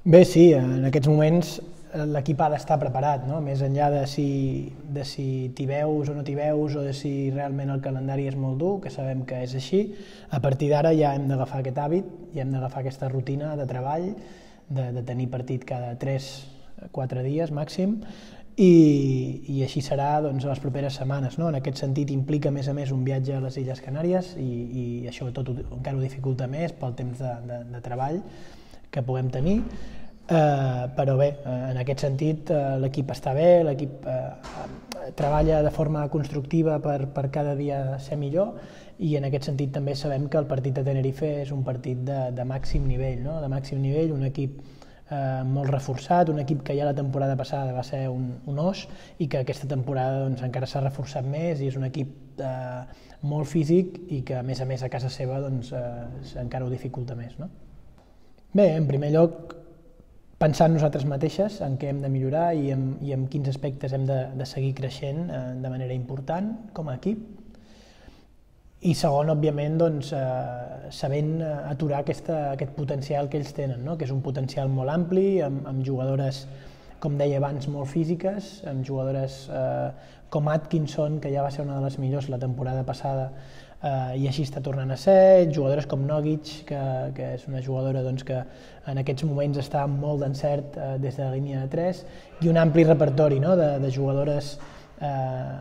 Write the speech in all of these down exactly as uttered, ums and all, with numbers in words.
Bé, sí, en aquests moments l'equip ha d'estar preparat, no? Més enllà de si, de si t'hi veus o no t'hi veus o de si realment el calendari és molt dur, que sabem que és així, a partir d'ara ja hem d'agafar aquest hàbit, ja hem d'agafar aquesta rutina de treball, de, de tenir partit cada tres quatre dies màxim, i, i així serà doncs, les properes setmanes. No? En aquest sentit implica a més a més un viatge a les Illes Canàries i, i això tot ho, encara ho dificulta més pel temps de, de, de treball que puguem tenir, eh, però bé, en aquest sentit eh, l'equip està bé, l'equip eh, treballa de forma constructiva per, per cada dia ser millor, i en aquest sentit també sabem que el partit de Tenerife és un partit de, de màxim nivell, no? de màxim nivell, un equip eh, molt reforçat, un equip que ja la temporada passada va ser un, un os i que aquesta temporada doncs, encara s'ha reforçat més i és un equip eh, molt físic i que a més a més a casa seva doncs, eh, encara ho dificulta més. No? Bé, en primer lloc, pensar en nosaltres mateixes, en què hem de millorar i en, i en quins aspectes hem de, de seguir creixent eh, de manera important com a equip. I segon, òbviament, doncs, eh, sabent aturar aquesta, aquest potencial que ells tenen, no? que és un potencial molt ampli, amb, amb jugadores, com deia abans, molt físiques, amb jugadores eh, com Atkinson, que ja va ser una de les millors la temporada passada, Uh, i així està tornant a ser, jugadores com Nogic, que, que és una jugadora doncs, que en aquests moments està molt d'encert uh, des de la línia de tres, i un ampli repertori no? de, de jugadores uh,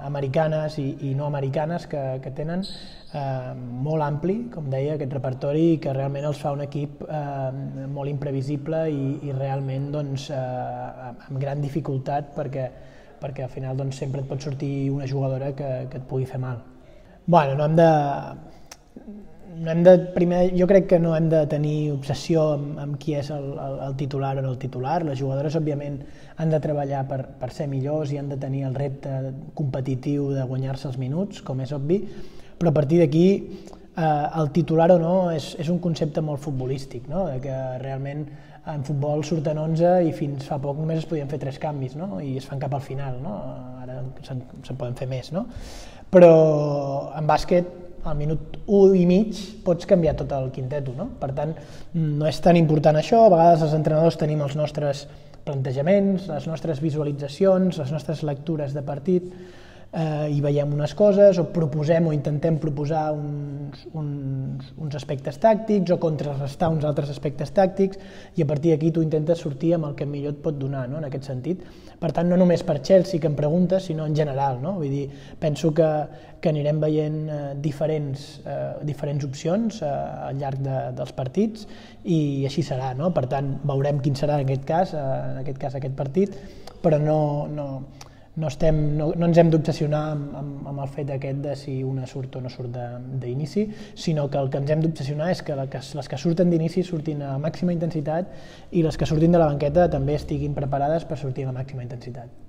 americanes i, i no americanes que, que tenen uh, molt ampli, com deia, aquest repertori, i que realment els fa un equip uh, molt imprevisible i, i realment doncs, uh, amb gran dificultat perquè, perquè al final doncs, sempre et pot sortir una jugadora que, que et pugui fer mal. Bueno, no hem de, no hem de primer, jo crec que no hem de tenir obsessió amb, amb qui és el, el, el titular o no el titular. Les jugadores, òbviament, han de treballar per, per ser millors i han de tenir el repte competitiu de guanyar-se els minuts, com és obvi, però a partir d'aquí eh, el titular o no és, és un concepte molt futbolístic, no? De que realment en futbol surten onze i fins fa poc només es podien fer tres canvis, no? I es fan cap al final, no? Ara se'n, se'n poden fer més, no? Però en bàsquet al minut u i mig pots canviar tot el quinteto, no? Per tant, no és tan important això, a vegades els entrenadors tenim els nostres plantejaments, les nostres visualitzacions, les nostres lectures de partit, eh, i veiem unes coses o proposem o intentem proposar uns, uns, uns aspectes tàctics o contrarrestar uns altres aspectes tàctics, i a partir d'aquí tu intentes sortir amb el que millor et pot donar, no? En aquest sentit. Per tant, no només per Chelsea, que em preguntes, sinó en general, no? Vull dir, penso que, que anirem veient eh, diferents, eh, diferents opcions eh, al llarg de, dels partits, i així serà, no? Per tant, veurem quin serà en aquest cas, eh, en aquest cas aquest partit, però no, no, no, estem, no, no ens hem d'obsessionar amb, amb, amb el fet aquest de si una surt o no surt d'inici, sinó que el que ens hem d'obsessionar és que, la, que les que surten d'inici surtin a màxima intensitat i les que surtin de la banqueta també estiguin preparades per sortir a la màxima intensitat.